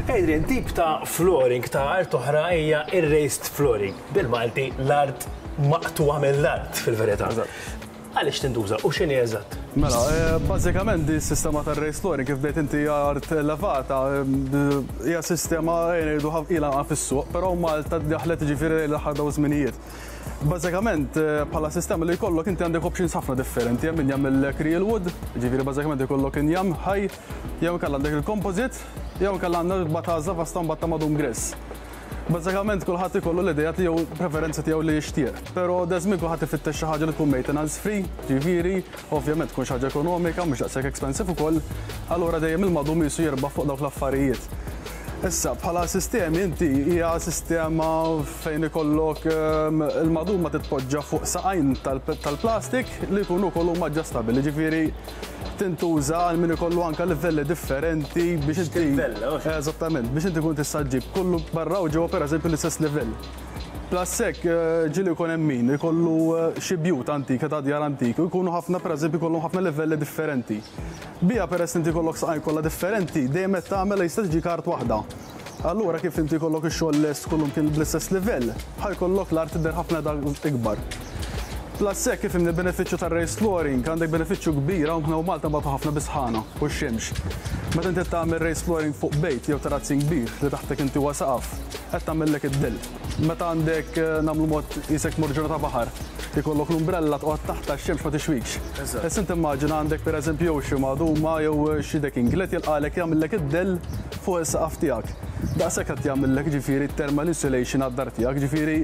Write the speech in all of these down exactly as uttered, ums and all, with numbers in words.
Adrian, tip ta' flooring ta' art oħra hija ir-raised flooring. Bil-Malti, l-art maqtugħa mill-art fil-verità. Għaliex tintuża u x'inhi eżatt? Mela, eh, bażikament di s-sistema tar raised flooring, kif bdejt inti, art elevata, eh, hija sistema ngħidu ilha fis-suq, però Malta daħlet ġifieri l-aħħar daw żminijiet. Bażikament eh, bħala sistema li jkollok inti għandek options ħafna differenti, hemm min jagħmel real wood, ġifieri bażikament ikollok injam ħaj, jew inkella għandek il-composite, jew inkella għandek bataża vasta mbagħad ta' madum gress. Bażikament kulħadd ikollu l-idea tiegħu, preferenza tiegħu li jixtieq. Però daż-żmien kulħadd ifittex xi ħaġa li tkun maintenance free, ġifieri, ovvjament tkun xi ħaġa ekonomika, mhux daqshekk expensive ukoll, allura dejjem il-madum jisu jirbaħ fuq dawk l-affarijiet. Issa, bħala sistemi inti hija sistema fejn ikollok ehm, il-madum ma titpoġġa fuq saqajn tal-plastik li jkunu kollu adjustable, ġifieri tintuża għal min ikollu anka livelli differenti biex inti. Eżattament, biex inti kun tista' ġġib kollu barra u ġewwa, pereżempju, l-istess livell. Plus hekk eh, ġieli jkun hemm min ikollu eh, xi bjut antika ta' djar antiki u jkunu ħafna, pereżempju, jkollhom ħafna livelli differenti. Bija peress inti jkollok saqajn kollha differenti, dejjem qed tagħmel jista' tiġi art waħda. Allura kif inti jkollok ix-xogħol lest kullum kien bl-istess livell, ħa jkollok l-art tidher ħafna ikbar. Plus hekk, kif imni benefiċċju tar-raised flooring, għandek benefiċċju kbir hawn u Malta mbagħad ħafna bis-sħana u x-xemx. Meta inti tagħmel raised flooring fuq bejt jew terrazzin kbir li taħtek inti huwa saqaf, qed tagħmellek id-dell. Meta għandek eh, nagħmlu mod qisek mur ġurnata baħar, ikollok l-umbrella toqgħod taħt x-xemx ma tixwikx. Issa inti immaġina għandek, pereżempju, jew xi maduma jew xi decking li jilqalek jagħmellek id-dell fuq is-saqaf tiegħek. Daqshekk qed jagħmellek ġifieri thermal insulation għad-dar tiegħek, ġifieri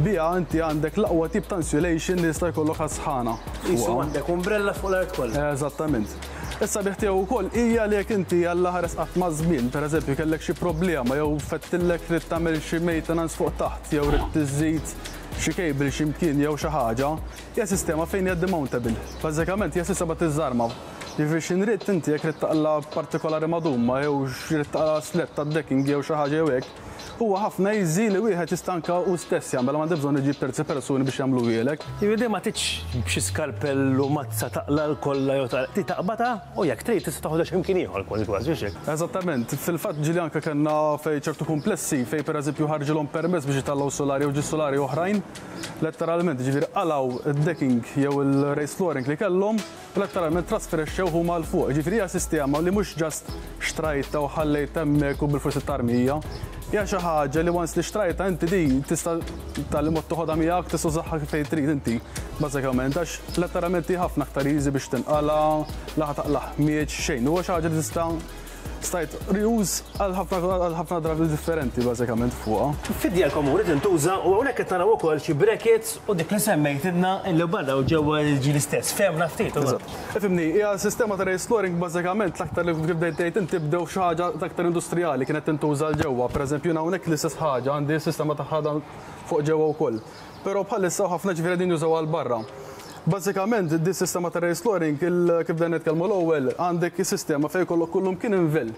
biha inti għandek l-aqwa tip ta' insulation li jista' jkollok għas-sħana. Qisu għandek umbrella fuq l-art kollha. Eżattament. Issa biħ tiegħu wkoll hija li jekk inti Alla ħares qatt ma' żmien, pereżempju, kellek xi problema jew fettillek trid tagħmel xi maintenance fuq taħt jew trid tiżid xi cable xi mkien jew xi ħaġa, hija sistema fejn hija demountable. Bażikament hija sistema tiżarma. Jiġifieri x'inrid inti jekk trid taqla partikolari maduma jew x'rid taqla slat tad-decking jew xi ħaġa jew hekk, huwa ħafna easy li wieħed jista' anke hu stess jagħmel, m'għandek bżonn iġib terzi persuni biex jagħmlu. Jiġifieri ma tridx b'xi skalpellu mazza taqla l-kolla jew ti taqbata u jekk trid tista' toħodha x'imkien ieħor kważi kważi, hekk. Eżattament, fil-fatt ġieli anke kellna fej ċertu komplessi fej, pereżempju, ħarġilhom permess biex jitellgħu solari u ġi solari oħrajn, letteralment ġifieri qalgħu id-decking jew il-raised flooring li kellhom, letteralment trasferixxew huma 'l fuq. Ġifieri hija sistema li mhux just xtrajta u ħallejt hemmhekk u bil-forsi tarmija. Hija xi ħaġa li once li xtrajta inti di tista' tal mod toħodha miegħek, tista' tużaha fejn trid inti bażikament, għax letteralment hi ħafna aktar easy biex tinqala, la ħa taqla ħmieġ xejn. Huwa xi ħaġa li tista' stajt reuse għal ħafna drabi differenti bażikament fuqha. Fid-djar komuni tintuża u hawnhekk qed naraw ukoll xi brackets u dik li semmejtilna illi barra u ġewwa ġi l-istess. Fehmna ftit. Ifhimni, hija sistema ta' raised flooring bażikament l-aktar li kif bdejt tgħid inti bdew xi ħaġa aktar industrijali kienet tintuża 'l ġewwa. Pereżempju, hawnhekk l-istess ħaġa għandi sistema ta' ħadan fuq ġewwa wkoll. Però bħalissa ħafna ġifieri din jużaw għal barra. Bażikament, di sistema ta' raised flooring, kif dan nitkellmu l-ewwel, għandek sistema fejn kollok kullum kien invell.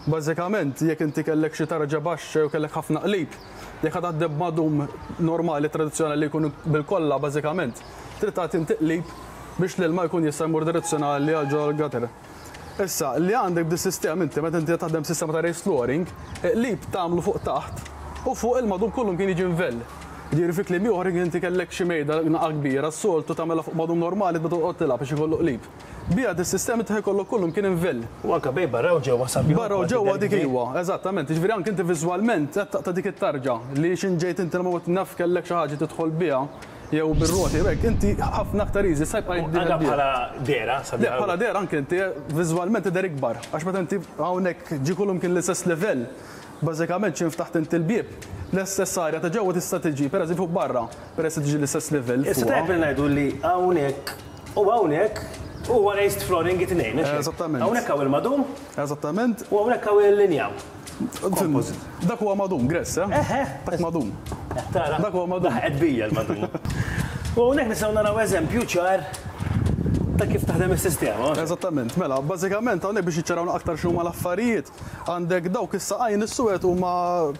Bażikament, jekk inti kellek xi tarġa baxxa jew kellek ħafna qlib, jekk ħa taħdem madum normali tradizzjonali li jkunu bil-kolla bażikament, trid tagħti inti qlib biex l-ilma jkun jista' jmur direzzjonali għal ġol gutter. Issa, li għandek di sistema inti, meta inti taħdem sistema ta' raised flooring, qlib tagħmlu fuq taħt u fuq il-madum kullum kien jiġi invell. Ġifieri fi kliem ieħor, inti kellek xi mejda naqa kbira, s-soltu tagħmilha fuq madum normali tbda toqgħod tilgħab biex ikollu qlib. Bija dis-sistema ta' jkollok kullum kien invell. U anke bej barra u ġewwa sabiħ. Barra u ġewwa dik iwa, eżattament. Ġifieri anke inti viżwalment qed taqta' dik it-tarġa li x'inġejt inti ma naf kellek xi ħaġa tidħol biha jew bir-roti hekk, inti ħafna aktar easy sa jibqa' Anke bħala dera, sabiħ. Bħala dera anke inti viżwalment tidher ikbar. Għax meta inti hawnhekk ġi kullum kien l-istess livell, bażikament xi ftaħt inti l-bieb, l-istess arja ta' ġewwa tista' tiġi, pereżempju, fuq barra, peress tiġi l-istess livell. Issa tajjeb li ngħidu li hawnhekk u hawnhekk huwa raised flooring it-tnejn. Eżattament. Hawnhekk hawn il-madum. Eżattament. U hawnhekk hawn il-linjaw. Dak huwa madum, gress, eh? Eħe. Dak madum. Tara. Dak huwa madum. Daħqet bija l-madum. U hawnhekk nistgħu naraw eżempju ċar ta' kif taħdem is-sistema. Eżattament, mela, bażikament hawnhekk biex jiċċaraw aktar x'huma l-affarijiet, għandek dawk is-saqajn is-suwed huma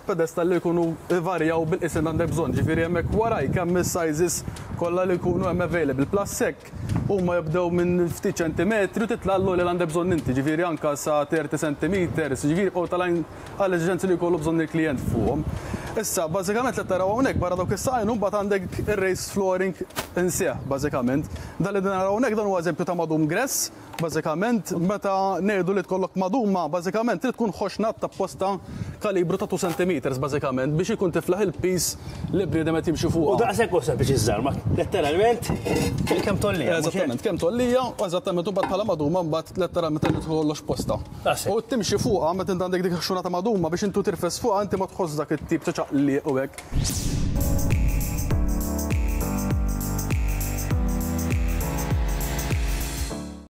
pedestal li jkunu varjaw bil-qisien għandek bżonn, ġifieri hemmhekk waraj kemm is-sizes kollha li jkunu hemm available. Plus hekk huma jibdew minn ftit ċentimetri u titla' li għandek bżonn inti, ġifieri anka sa thirty centimeters, ġifieri u tal għall-eżiġenzi li jkollu bżonn il-klient fuqhom. Issa, bażikament li taraw hawnhekk barra dawk is-saqajn mbagħad għandek ir-raised flooring insieħ, bażikament. Dan li naraw hawnhekk, dan huwa eżempju ta' madum grass, bażikament meta ngħidu li tkollok maduma, bażikament trid tkun ħoxna ta' posta kalibru ta' two centimeters bażikament biex ikun tiflaħ il-pis li bniedem qed jimxi fuq. U daqshekk hu sempliċi żarma, letteralment kemm tollija. Eżattament, kemm tollija, u eżattament u bħala maduma mbagħad letteralment qed tkollox posta. U timxi fuqha meta int għandek dik ħxuna ta' maduma biex intu tirfes fuqha, inti ma tħoss dak it-tip ta' ċaqliq u hekk.